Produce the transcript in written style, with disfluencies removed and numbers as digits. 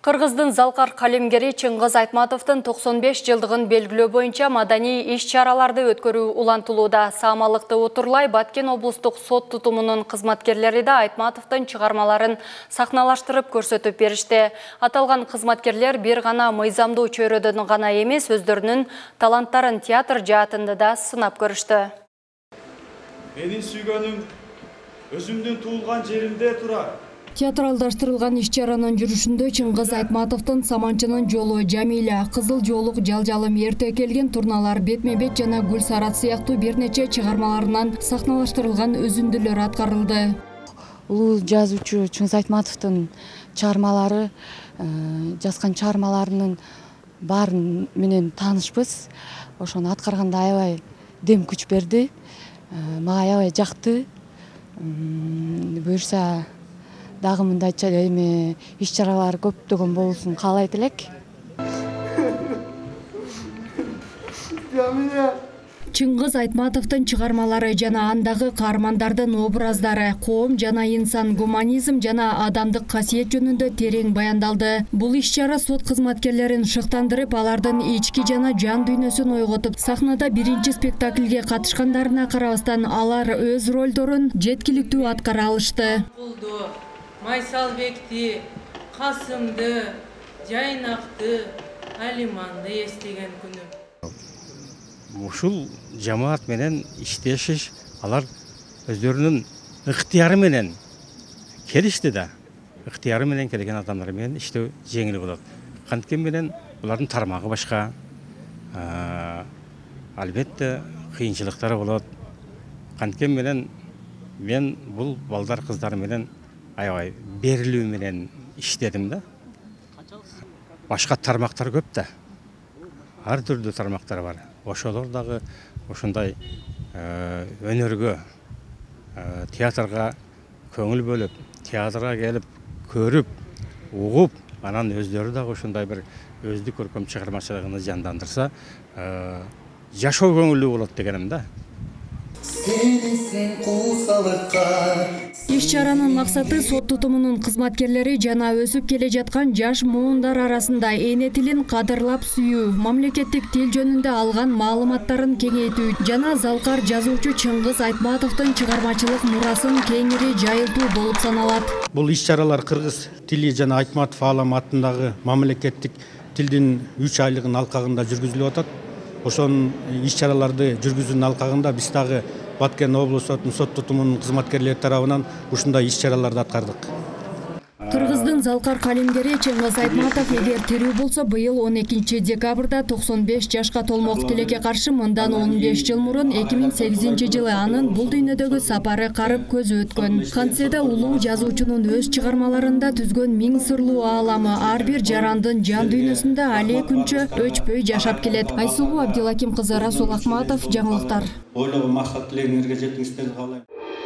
Кыргыздын залкар калемгери Чыңгыз Айтматовдун 95 жылдыгын белгилөө боюнча маданий иш-чараларды өткөрүү улантылууда. Саамалыкты утурлай Баткен облустук сот тутумунун кызматкерлери да Айтматовдун чыгармаларын сахналаштырып көрсөтүп беришти. Аталган кызматкерлер бир гана мыйзамдуу чөйрөдөн гана эмес, өздөрүнүн таланттарын театр жаатында да сынап көрүштү. Менин сүйгөнүм өзүмдүн туулган жеримде турат. Театралдаштырылган иш-чаранын жүрүшүндө Чыңгыз Айтматовдун Саманчынын жолу, Жамиля, Кызыл жолук, Жалжалым эрте келген, Турналар, Бетме-бет жана Гүл Сарат сыяктуу бир нече чыгармаларынан сахналаштырылган үзүндүлөр аткарылды. Улуу жазуучу Чыңгыз Айтматовдун чыгармалары, жазган чыгармаларынын баарын менен таанышпыз. Ошону аткарганда аябай дем күч берди. Мага аябай жакты. Буюрса дагы мындай иш-чаралар көптөгөн болсун каалайт элек. Чыңгыз Айтматовдун чыгармалары жана андагы каармандардын образдары, коом жана инсан, гуманизм жана адамдык касиет жөнүндө терең баяндалды. Бул иш-чара сот кызматкерлерин шыктандырып, алардын ички жана жан дүйнөсүн ойготуп, сахнада биринчи спектакльге катышкандарына карабастан, алар өз ролдорун жеткиликтүү аткара алышты. Майсалбекти, Касымды, Жайнакты, Алиманды эстеген күнүм. Ушул жамаат менен иштешиш, алар өздөрүнүн ыктыяры менен келишти да. Ыктыяры менен келген адамдар менен иштөө жеңил болот. Канткен менен булардын тармагы башка. Албетте кыйынчылыктары болот. Канткен менен мен бул балдар кыздар менен аябай берилүү менен иштедим да. Башка тармактар көп да. Ар түрдүү тармактар бар. Ошолор дагы ошондой өнөргө, театрга көңүл бөлүп, театрга келип, көрүп, угуп, анан өздөрү дагы ошондой бир өздүк көркөм чыгармачылыгын жандандырса, жашоо көңүлдүү болот дегеним да. Иш-чаранын максаты сот тутумунун кызматкерлери жана өсүп келе жаткан жаш муундар арасында эне тилин кадырлап сүйүү, мамлекеттик тил жөнүндө алган маалыматтарын кеңейтүү жана залкар жазуучу Чыңгыз Айтматовдун чыгармачылык мурасын кеңири жайылтуу болуп саналат. Бул иш-чаралар кыргыз тили жана Айтматов Аалам атындагы мамлекеттик тилдин 3 айлыгын алкагында жүргүзүлүп атат. Ошонун иш-чараларды жүргүзүүнүн алкагында биз дагы Баткен облус сотунун сот тутумунун кызматкерлери тарабынан ушундай иш-чараларды аткардык. Кыргыздын залкар калемгери Чыңгыз Айтматов эгер тирүү болсо, быйыл 12 декабрда 95 жашка толмок. Тилекке каршы мындан 15 жыл мурун 2008 жылы анын бул дүйнөдөгү сапары карып көзү өткөн. Кантсе улуу жазуучунун өз чыгармаларында түзгөн миң сырлуу ааламы ар бир жарандын жан дүйнөсүндө але күнчө өчпөй жашап келет. Айсулуу Абдилаким кызы, Расул Акматов, жаңылыктар. Ойлогон максат тилегиңерге жетиңиздерди каалайм.